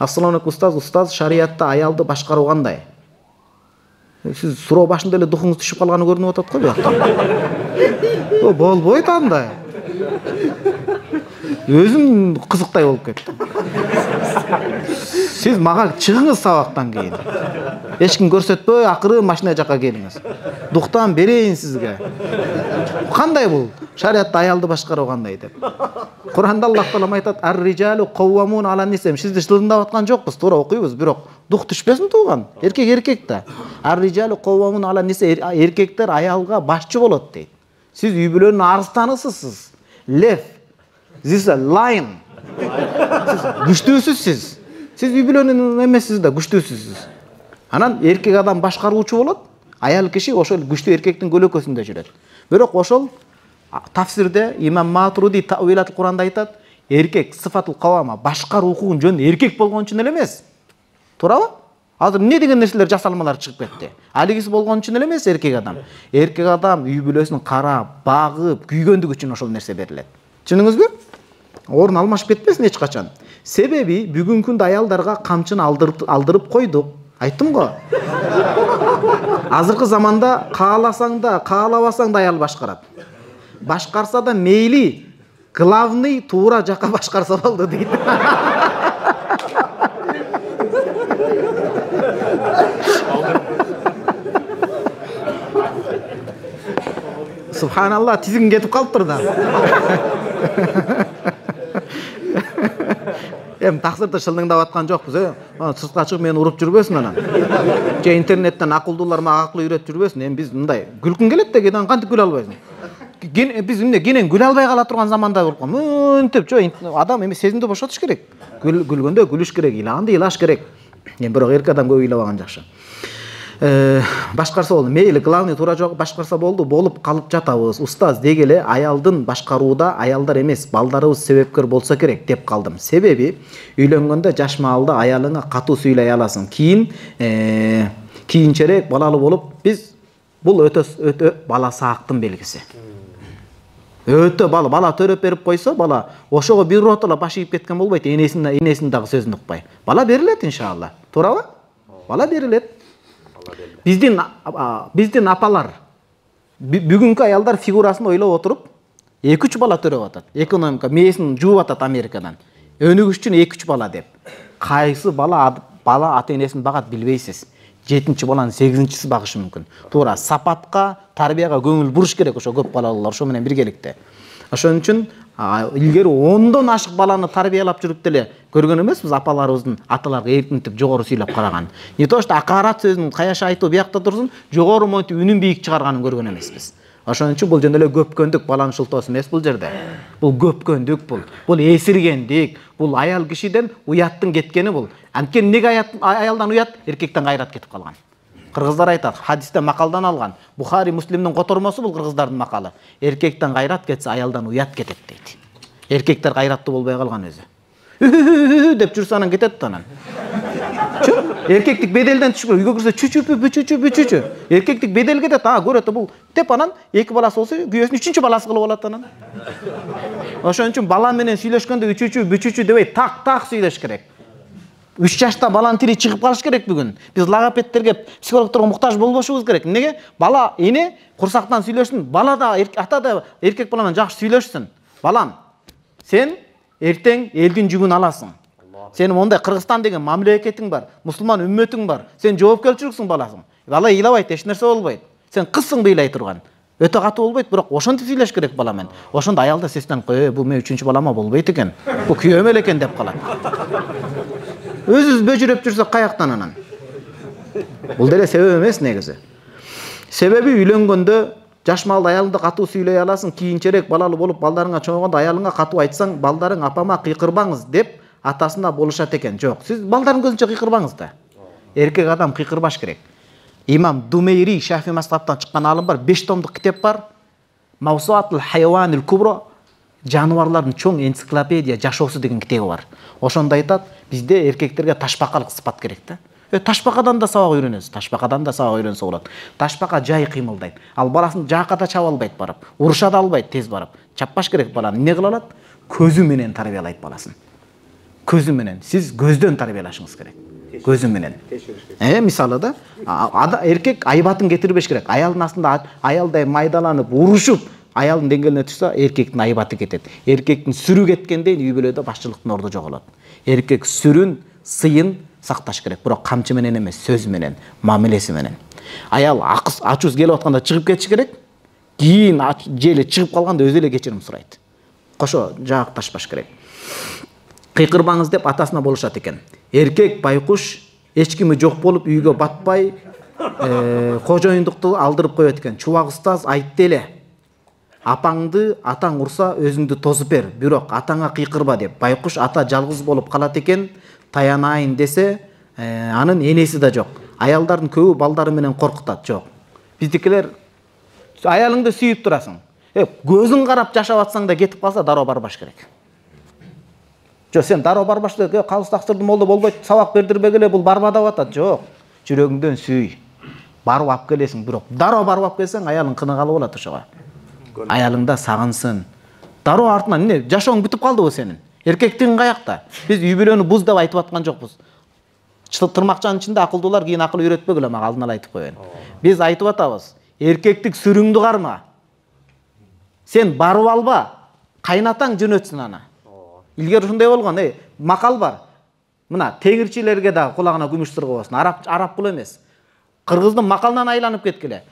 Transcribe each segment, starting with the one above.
Ассаламу алейкум устаз, шариатта аялды башкаруу кандай? Сиз суроо башында эле духуңуз түшүп калганы көрүнүп атат го бuyакта. Болбойт андай. Өзүм кызыктай болуп кеттим. Сиз мага чыгыңыз сабактан кийин. Эч ким көрсөтпөй, акыры машина жакка келиңиз. Дуктан берейин сизге. Кандай бул? Шариатта аялды башкаруу кандай деп. Куранда Аллах таала айтат: "Ар-риджалу каввамун ала-ниса". Сизди жылындап аткан жокпуз, туура окуйбуз, бирок дух түшпөсүн тууган. Эркек да. Ар-риджалу каввамун ала-ниса, эркектер аялга башчы болот дейт. Сиз үй бүлөнүн арстанысысыз. Лев. This a lion. Күчтүүсүз. Сиз үй бүлөнүн эмессиз да, күчтүүсүз. Анан эркек адам башкаруучу болот, аял киши ошол күчтүү эркектин көлөкөсүндө жүрөт. Бирок ошол тафсирде имам Матуриди Таъвилатул Куранда айтат, эркек сыфатул кавама башкаруу укугун жөн эркек болгон үчүн эле эмес. Туурабы? Азыр эмне деген нерселер жасалмалар чыгып кетти. Алигиси болгон үчүн эле эмес эркек адам. Эркек адам үй бүлөсүн карап, багып, күйгөндүк үчүн ошол нерсе берилет. Түшүндүңүзбү? Орун алмашып кетпесин эч качан. Себеби бүгүнкү күндө аялдарга камчыны алдырып койдук. Айттым го. Азыркы заманда кааласаң да, каалабасаң да аял башкарат. Башкарса да мейли, главный туура жакка башкарса болду дейт. Субханалла, тизиң кетип калыптыр да. Таксырды шылдыңдап аткан жокпуз, сыртка чыгып мени уруп жүрбөсүн анан. Же интернеттен акылдуулар мага акыл үйрөтүп жүрбөсүн. Биз мындай күлкүң келет да, кээде кантип күлө албайсың? Биз кенен күлө албай кала турган заманда болуп калды. Мынтип, адам эми сезимди бошотуш керек. Күлгөндө күлүш керек, ыйлаганда ыйлаш керек. Бирок эркек адам көп ыйлабаган жакшы. Башкарса болду. Мейли, главный туура жок башкарса болду, болуп калып жатабыз. Устаз деги эле аялдын башкарууда аялдар эмес, балдарыбыз себепкер болсо керек деп калдым. Себеби үйлөнгөндө жаш маалда аялыңа катуу сүйлөй аласың. Кийинчерээк балалуу болуп, бул өтө бала саактын белгиси. Өтө бала төрөп берип койсо, бала ошого бир ротола баш ийип кеткен болбойт, энесин дагы сөзүн укпай. Бала берилет иншалла. Туурабы? Бала берилет. Биздин апалар бүгүнкү аялдар фигурасын ойлоп отуруп 2-3 бала төрөп атат. Экономика мээсин жууп атат Америкадан. Өнүгүш үчүн 2-3 бала деп. Кайсы бала ата энесин багат билбейсиз. 7-чи баланы 8-чиси багышы мүмкүн. Туура сапатка, тарбияга көңүл буруш керек ошо көп балалуулар ошо менен биргеликте. Ошон үчүн илгери 10дон ашык баланы тарбиялап жүрүп деле көргөн эмеспиз апаларыбыздын аталарга эркинтип жогору сүйлөп караган. Не то что акарат сөзүн каяша айтуу биякта турсун, жогору монтип үнүн бийик чыгарганын көргөн эмеспиз. Ошон үчүн бул жөн эле көпкөндүк баланын шылтоосу эмес бул жерде. Бул көпкөндүк бул эсиргендик, бул аял кишиден уяттын кеткени бул. Анткени неге аялдан уят, эркектен кайрат кетип калган. Кыргыздар айтат, хадисте макалдан алган. Бухари, Муслимдин котормосу бул кыргыздардын макалы. Эркектен кайрат кетсе, аялдан уят кетет дейт. Эркектер кайраттуу болбой калган өзү. Деп жүрсө анан кетет анан. Эркектик беделден түшүп, үйгө кирсе чүчү. Эркектик бедел кетет, көрөт бул деп анан 2 баласы болсо, күйөөсүн 3-чү баласы кылып алат анан. Ошон үчүн бала менен сүйлөшкөндө үчүчү дебей так сүйлөш керек. 3 жашта баланын тили чыгып калыш керек бүгүн. Биз логопедтерге, психологторго муктаж болбошубуз керек. Неге? Бала эне курсактан сүйлөшсүн, бала да, ата да эркек бала менен жакшы сүйлөшсүн. Балам, сен эртең элдин жүгүн аласың. Сенин мондай Кыргызстан деген мамлекетиң бар, мусулман үммөтүң бар. Сен жоопкерчиликсиң баласың. Бала ыйлабайт, эч нерсе болбойт. Сен кызсың ыйлай турган. Өтө катуу болбойт, бирок ошентип сүйлөш керек бала менен. Ошондо аялда сестен бул мен 3-чү балама болбойт экен. Бул күйөөм эле экен деп калат. Өзүбүз бөжүрөп жүрсөк каяктан анан? Бул деле себеп эмес негизи. Себеби үйлөнгөндө жаш маалда аялыңды катуу сүйлөй аласың, кийинчерээк балалуу болуп балдарыңа чоңойгондо аялыңа катуу айтсаң, балдарың апама кыйкырбаңыз деп атасына болушат экен. Жок, сиз балдардын көзүнчө кыйкырбаңыз да. Эркек адам кыйкырбаш керек. Имам Думейри Шафи мазхабтан чыккан алым бар, 5 томдук китеп бар. Мавсуатул хайванил кубро, жаныбарлардын чоң энциклопедия жашоосу деген китеби бар. Ошондо айтат, бизде эркектерге ташбакалык сыпат керек да. Ташбакадан да сабак үйрөнөсүз, ташбакадан да сабак үйрөнсө болот. Ташбака жай кыймылдайт. Ал баласын жаката чаба албайт барып, уруша да албайт тез барып. Чаппаш керек баланы. Эмне кыла алат? Көзү менен тарбиялайт баласын. көзү менен. Сиз көздөн тарбиялашыңыз керек. Көзү менен. Мисалы да, эркек айбатын кетирбеш керек. Аялдын астында аялдай майдаланып, урушуп, аялдын деңгээлине түшсө, эркектин айбаты кетет. Эркектин сүрү кеткенден үй бүлөдө башчылыктын орду жоголот. Эркек сүрүн, сыйын сакташ керек, бирок камчы менен эмес, сөз менен, мамилеси менен. Аял ачуусу келип атканда чыгып кетиш керек. Кийин желе чыгып калганда өзү эле кечирим сурайт. Кошо жаакташпаш керек. Кыйкырбаңыз деп атасына болушат экен. Эркек байкуш эч кими жок болуп үйгө батпай, кожоюндукту алдырып коет экен. Чубак устаз айтты эле. Апаңды атаң урса өзүңдү тосуп бер, бирок атаңа кыйкырба деп. Байкуш ата жалгыз болуп калат экен, таянайын десе, анын энеси да жок. Аялдардын көбү балдары менен коркутат, жок. Биздикилер аялыңды сүйүп турасың. Көзүң карап жашап атсаң да кетип калса дароо барбаш керек. Жок, сен дароо барбаш керек, калыс таксырдым болду болбойт, сабак бердирбегиле, бул барбадап атат. Жок. Жүрөгүңдөн сүй. Барып алып келесиң, бирок дароо барып алып келсең, аялың кыныгалы болот ошого. Аялыңда сагынсын. Дароо артынан эмне, жашооң бүтүп калдыбы сенин? Эркектигиң каякта? Биз үй бүлөнү буз деп айтып аткан жокпуз. Тырмакчанын ичинде акылдуулар кийин акыл үйрөтпөгүлө, мага алдын ала айтып коеюн. Биз айтып атабыз. Эркектик сүрүңдү карма. Сен барып алба, кайнатаң жөнөтсүн аны. Илгери ушундай болгон, макал бар. Мына теңирчилерге да кулагына күмүш сыргыбасын. Арап бул эмес. Кыргыздын макалынан айланып кеткиле.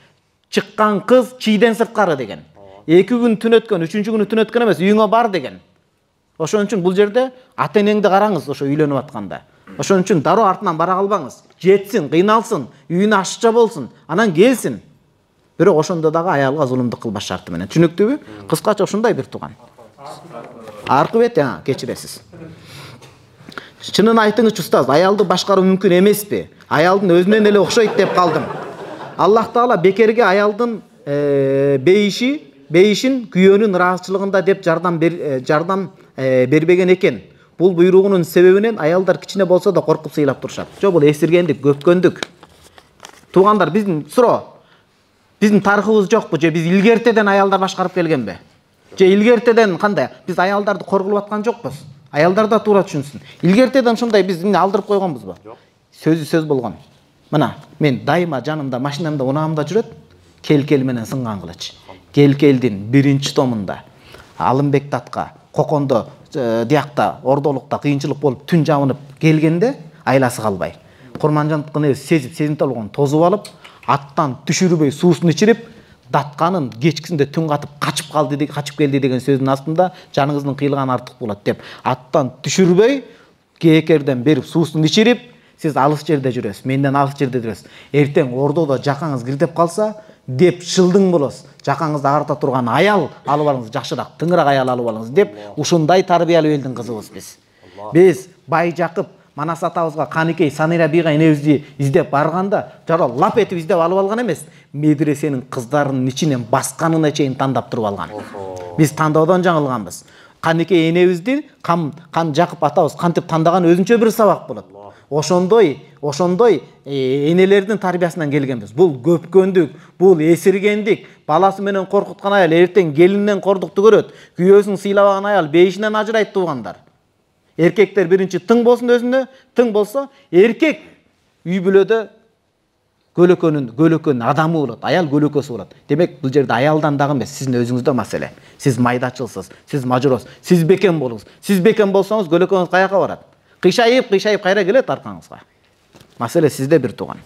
Чыккан кыз чийден сырткары деген. 2 күн түн өткөн, 3-чү күнү түн өткөн эмес, үйүңө бар деген. Ошон үчүн бул жерде ата-энеңди караңыз, ошо үйлөнүп атканда. Ошон үчүн дароо артынан бара калбаңыз. Жетсин, кыйналсын, үйүнө ашыкча болсун, анан келсин. Бирок ошондо дагы аялга зулумдук кылбаш шарты менен. Түшүнүктүүбү? Кыскача ушундай бир тууган. Аркы бет, кечиресиз. Чынын айтыңызчы устаз, аялды башкаруу мүмкүн эмеспи? Аялдын өзүнөн эле окшойт деп калдым. Аллах Таала бекерге аялдын бейишин күйөөнүн ыраазычылыгында деп жардам бербеген экен. Бул буйругунун себебинен аялдар кичине болсо да коркуп сыйлап турушат. Жок, бул эсиргендик, көпкөндүк. Туугандар, биздин суроо. Биздин тарыхыбыз жокпу же биз илгертеден аялдар башкарып келгенби? Же илгертеден кандай? Биз аялдарды коргулуп аткан жокпуз. Аялдар да туура түшүнсүн. Илгертеден ушундай биз алдырып койгонбузбу? Сөзү сөз болгон. Мына, мен дайыма жанымда, машинамда, унаамда жүрөт, Кел-кел менен сынган кылыч. Кел-келдин 1-томунда Алымбек татка, Кокондо диякта, ордолукта кыйынчылык болуп түн жабынып келгенде айласы калбай. Курманжандыкын сезип, сезимтал болгон тозуп алып, аттан түшүрбөй суусун ичирип, датканын кечкисинде түн катып качып келди деген сөздүн астында жаныңыздын кыйылганы артык болот деп, аттан түшүрбөй, кээкерден берип суусун ичирип, сиз алыс жерде жүрөсүз, менден алыс жерде жүрөсүз. Эртең ордодо жакаңыз кирдеп калса, деп шылдың болосуз. Жакаңызды агырта турган аял алып алыңыз, жакшыраак, тыңыраак аял алып алыңыз деп, ушундай тарбиялуу элдин кызыбыз биз. Биз Бай Жакып, Манас атабызга, Каныкей, Санира бийга энебизди издеп барганда, жароо лап этип издеп алып алган эмес, медресенин кыздарынын ичинен басканына чейин тандап туруп алган. Биз тандоодон жаңылганбыз. Каныкей энебизди Кан Жакып атабыз кантип тандаган өзүнчө бир сабак болот. Ошондой энелердин тарбиясынан келгенбиз. Бул көпкөндүк, бул эсиргендик. Баласы менен коркуткан аял эртең келиннен кордукту көрөт. Күйөөсүн сыйлабаган аял бейишинен ажырайт туугандар. Эркектер биринчи тың болсун өзүнө, тың болсо, эркек үй бүлөдө көлөкөнүн адамы болот, аял көлөкөсү болот. Демек, бул жерде аялдан дагы эмес, сиздин өзүңүздө маселе. Сиз майдачылсыз, сиз мажуросуз, сиз бекем болуңуз. Сиз бекем болсоңуз, көлөкөгүңүз каяка барат? Кыйшайып кайра келет аркаңызга. Маселе сизде бир тууган.